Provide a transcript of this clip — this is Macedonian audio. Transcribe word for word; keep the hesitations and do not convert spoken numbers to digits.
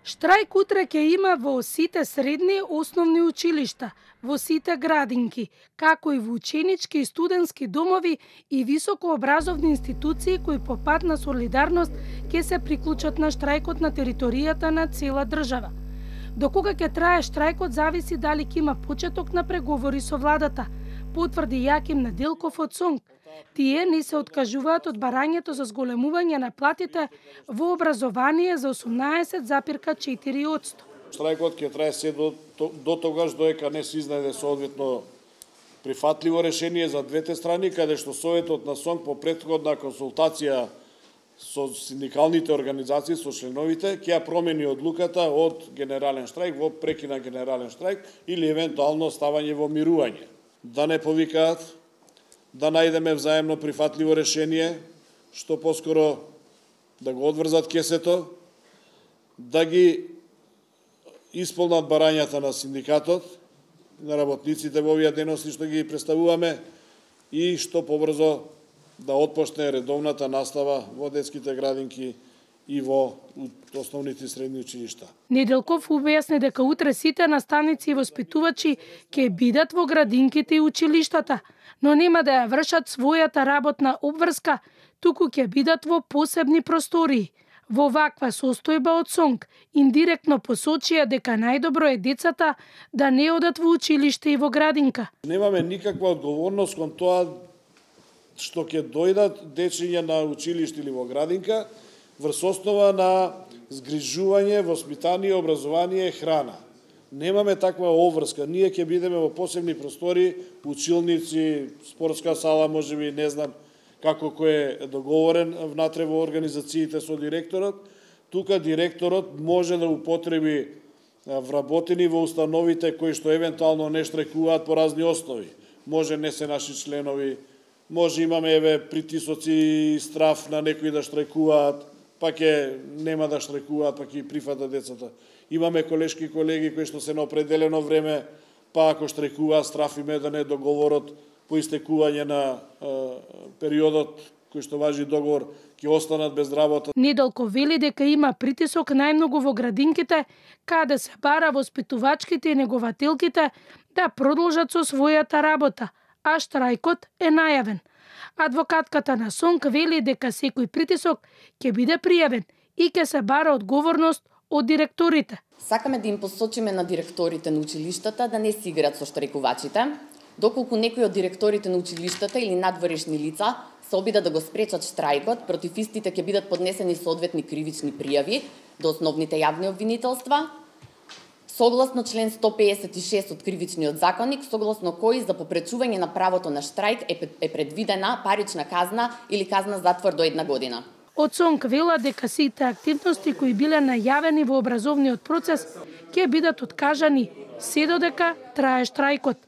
Штрајк утре ќе има во сите средни основни училишта, во сите градинки, како и во ученички и студентски домови и високообразовни институции кои по пат на солидарност ќе се приклучат на штрајкот на територијата на цела држава. До кога ќе трае штрајкот зависи дали ќе има почеток на преговори со владата, потврди Јаким Неделков од СОНК. Тие не се откажуваат од барањето за зголемување на платите во образование за осумнаесет запирка четири одсто. Штрајкот ќе трае се до, до тогаш доека не се изнајде соодветно прифатливо решение за двете страни, каде што Советот на СОНК по претходна консултација со синдикалните организации, со членовите, ќе ја промени одлуката од генерален штрајк во прекина генерален штрајк или евентуално ставање во мирување. Да не повикаат, да најдеме взаемно прифатливо решение, што поскоро да го одврзат кесето, да ги исполнат барањата на синдикатот, на работниците во овие деноси што ги представуваме и што побрзо да отпочне редовната настава во детските градинки и во основните и средни училишта. Неделков објасни дека утре сите наставници и воспитувачи ќе бидат во градинките и училиштата, но нема да ја вршат својата работна обврска, туку ќе бидат во посебни простории. Во ваква состојба од СОНК индиректно посочија дека најдобро е децата да не одат во училиште и во градинка. Немаме никаква одговорност кон тоа што ќе дојдат дечиња на училиште или во градинка врз основа на згрижување, воспитание, образование, храна. Немаме таква обврска. Ние ќе бидеме во посебни простори, училници, спортска сала, можеби, не знам како кој е договорен внатре во организациите со директорот. Тука директорот може да употреби вработени во установите кои што евентуално не штрекуваат по разни основи. Може не се наши членови, може имаме еве притисоци и страф на некои да штрекуваат, па ќе нема да штрекуваат, па ќе прифатат децата. Имаме колешки колеги кои што се на определено време, па ако штрекуваат, страф им е да не договорот по истекување на е, периодот кој што важи договор, ќе останат без работа. Неделков вели дека има притисок најмногу во градинките, каде се бара воспитувачките и негователките да продолжат со својата работа, а штрајкот е најавен. Адвокатката на СОНК вели дека секој притисок ќе биде пријавен и ќе се бара одговорност од директорите. Сакаме да им посочиме на директорите на училиштата да не си играат со штрајкувачите, доколку некои од директорите на училиштата или надворешни лица се обидат да го спречат штрајкот, против истите ќе бидат поднесени соодветни кривични пријави до основните јавни обвинителства, согласно член сто педесет и шест од Кривичниот законник, согласно кој за попречување на правото на штрајк е предвидена парична казна или казна затвор до една година. Од СОНК вела дека сите активности кои биле најавени во образовниот процес ќе бидат откажани се додека трае штрајкот.